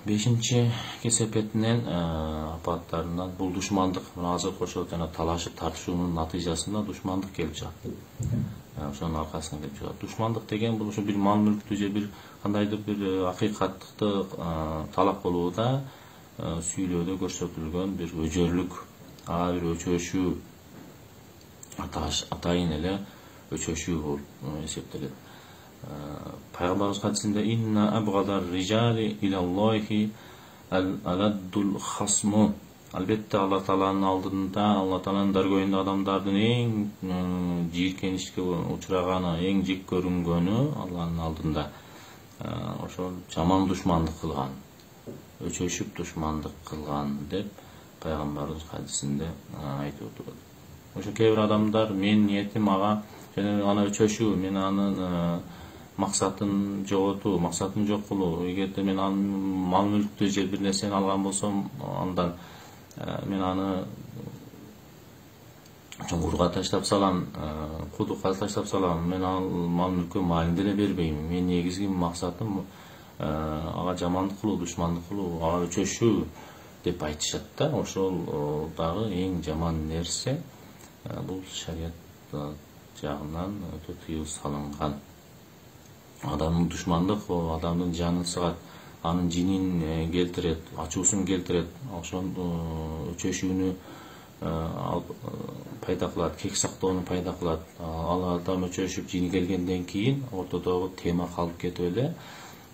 5 кесепетинен апаттарынан бул душмандык азыр кошо жана талашып тартышуунун натыйжасында душмандык келип чыгат. Ошонун аркасынан келип чыгат. Душмандык деген бул ушу бир мал мүлктү же бир кандайдыр бир акыйкаттыкты талап кылууда сүйлөөдө көрсөтүлгөн бир өжөрлүк, бир өчөшүү атайын эле өчөшүү болуп эсептелет. Пайгамбарыбыз хадисинде инна абгадар rijali ilallohi al-aladdul khasmu. Албетте Алла Тааланын алдында, Алла Тааланын даргойунда адамдардын эң жийиркенишке учураганы, эң жек көрүнгөнү Алланын алдында ошол жаман душмандык кылган, өчөшүп душмандык кылган деп пайгамбарыбыз хадисинде айтып отурат. Ошо кээ бир адамдар менин ниетим ага жана аны өчөшүү, мен анын максатын жоготуу, максатын жок кылуу. Эгерде мен анын мал мүлктү же бир нерсени алган болсом, андан мен аны чуңкурга таштап салам, кудукка таштап салам, мен ал мал мүлккө малын деле бербейм. Менин негизги максатым ага жамандык кылуу, душмандык кылуу, ага өчөшүү деп айтышат да. Ошол дагы эң жаман нерсе. Бул шарият жагынан өтө тыюу салынган. Адамдын душмандык адамдын жанын сыгат, анын жинин келтирет, ачуусун келтирет, ошол өчөшүүнү пайда кылат, кек сактоону пайда кылат. Ал адам өчөшүп жини келгенден кийин ортодогу тема калып кетип эле,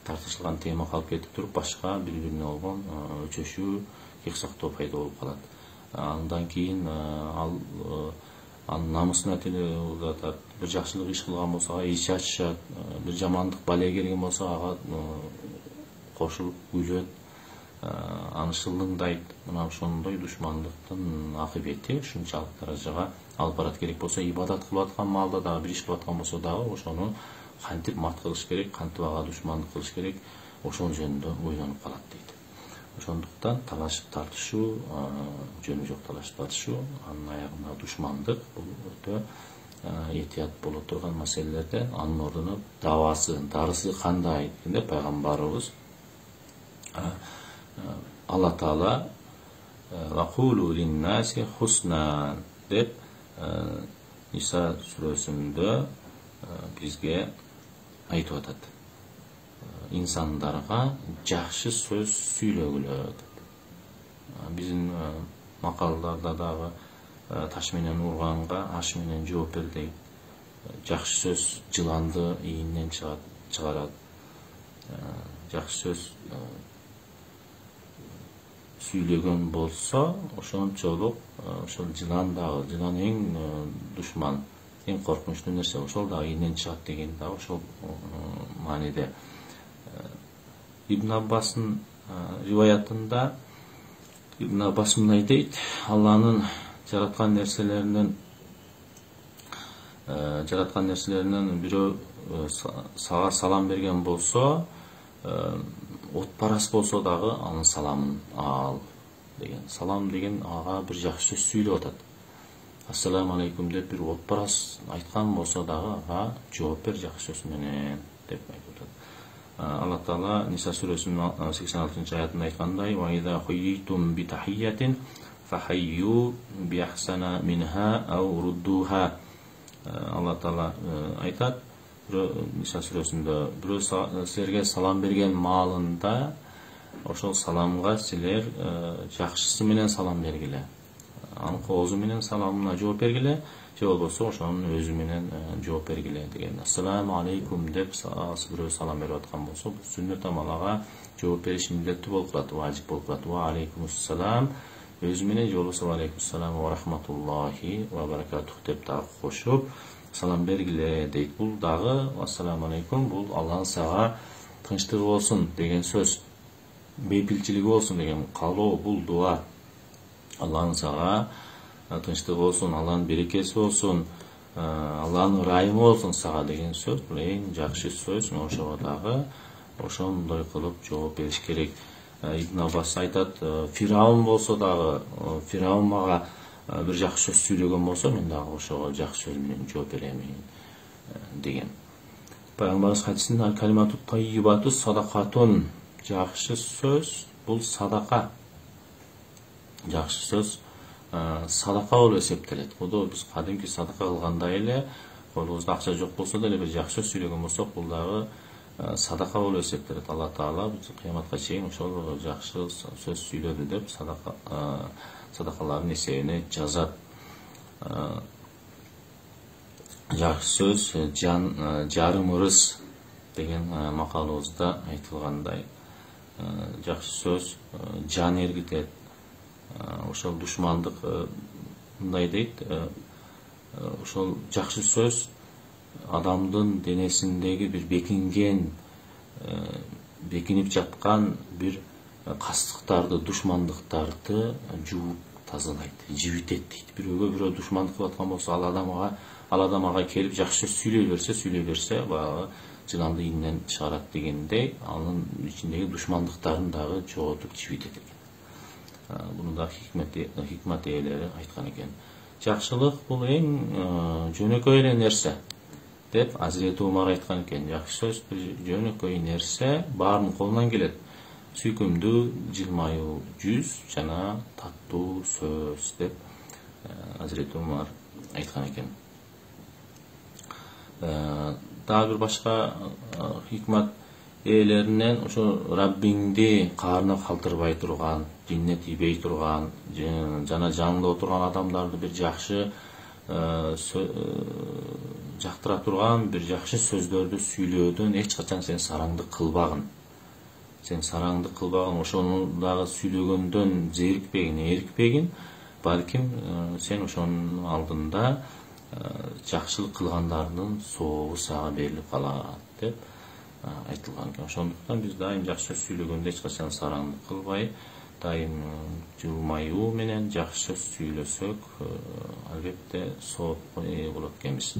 тартышылган тема калып кетип туруп, башка бири-бирине болгон өчөшүү, кек сактоо пайда болуп калат. Андан кийин анын намысына тире узатат. Бир жакшылык иш кылган болсо ага ич ачышат, бир жамандык бале келген болсо ага кошулуп күлөт, аны шылыңдайт. Мына ошондой душмандыктын акыбети ушунчалык даражага алып барат. Керек болсо ибадат кылып аткан маалда дагы, бир иш кылып аткан болсо дагы ошону кантип мат кылыш керек, кантип ага душмандык кылыш керек, ошол жөнүндө ойлонуп калат дейт. Ошондуктан талашып тартышуу, жөнү жок талашып тартышуу, анын аягында душмандык бул өтө этият боло турган маселелерден. Анын ордуна дарысы кандай дегенде пайгамбарыбыз Алла Таала вакулу линнаси хусна деп Ниса сүрөсүндө бизге айтып атат. Инсандарга жакшы сөз сүйлөгүлө деп. Биздин макалдарда дагы таш менен урганга аш менен жооп бер дейт. Жакшы сөз жыланды ийинен чыгарат. Жакшы сөз сүйлөгөн болсо, ошончолук ошол жылан эң душман, эң коркунучтуу нерсе, ошол дагы ийинен чыгат деген дагы ошол мааниде. Ибн Аббастын риваятында Ибн Аббас мындай дейт: Алланын жараткан нерселеринен бирөө сага салам берген болсо, отпарас болсо дагы анын саламын ал деген. Салам деген ага бир жакшы сөз сүйлөп атат. Ассаламу алейкум деп бир отпарас айткан болсо дагы ага жооп бер жакшы сөз менен деп айтып атат. Алла Таала Ниса сүрөсүнүн 86-аятында айткандай: "Ва иза хуйитум би тахиятин фахайю би ахсана минха ау руддуха." Алла Таала айтат, Ниса сүрөсүндө бирөө силерге салам берген маалында ошол саламга силер жакшысы менен салам бергиле. Анын коозу менен саламына жооп бергиле, же болбосо ошонун өзү менен жооп бергиле деген. Ассаламу алейкум деп бирөө салам берип аткан болсо, бул сүннөт амалга жооп бериш милдеттүү болуп калат, важип болуп калат. Ва алейкумуссалам өзү менен, же болбосо ва алейкуссалам ва рахматуллахи ва баракатух деп дагы кошуп салам бергиле дейт. Бул дагы ассаламу алейкум, бул Алланын сага тынчтыгы болсун деген сөз, бейпилчилиги болсун деген каалоо, бул дуа. Алланын сага тынчтыгы болсун, Алланын берекеси болсун, Алланын ырайымы болсун сага деген сөз, бул эң жакшы сөз. Ошого дагы ошондой кылып жооп бериш керек. Ибн Аббас айтат, Фираун болсо дагы, Фираун мага бир жакшы сөз сүйлөгөн болсо, мен дагы ошого жакшы сөз менен жооп берем деген. Пайгамбарыбыз хадисинде калимату таййибату садакатун, жакшы сөз бул садака. Жакшы сөз садака болуп эсептелет. Кудо биз кадимки садака кылгандай эле, колубузда акча жок болсо деле бир жакшы сөз сүйлөгөн болсок, бул дагы садака болуп эсептелет. Алла Таала биз кыяматка чейин ошол жакшы сөз сүйлөдү деп садакалардын эсебине жазат. Жакшы сөз жарым ырыс деген макалыбызда айтылгандай, жакшы сөз жан эргитет. Ошол душмандык мындай дейт, ошол жакшы сөз адамдын денесиндеги бир бекинип жаткан бир кастыктарды, душмандыктарды жууп тазалайт, жибитет дейт. Бирөөгө бирөө душмандык кылып аткан болсо, ал адам ага келип жакшы сөз сүйлөй берсе, баягы жыланды ийинен чыгарат дегендей, анын ичиндеги душмандыктарын дагы жоготуп жибитет экен. Буну да хикмат ээлери айткан экен. Жакшылык бул эң жөнөкөй эле нерсе деп Азирети Умар айткан экен. Жакшы сөз бир жөнөкөй нерсе, баарынын колунан келет. Сүйкүмдүү жылмаюу жүз жана таттуу сөз деп Азирети Умар айткан экен. Дагы бир башка хикмат ээлеринен ошо Раббиңди каарына калтырбай турган, динине тийбей турган жана жанында отурган адамдарды бир жакшы жактыра турган бир жакшы сөздөрдү сүйлөөдөн эч качан сен сараңдык кылбагын. Ошону дагы сүйлөгөндөн эрикпегин, балким сен ошонун алдында жакшылык кылгандардын сообу сага берилип калат деп айтылган экен. Ошондуктан биз дайым жакшы сөз сүйлөгөндө эч качан сараңдык кылбай, дайым жылмаюу менен жакшы сөз сүйлөсөк, албетте соопко ээ болот экенбиз.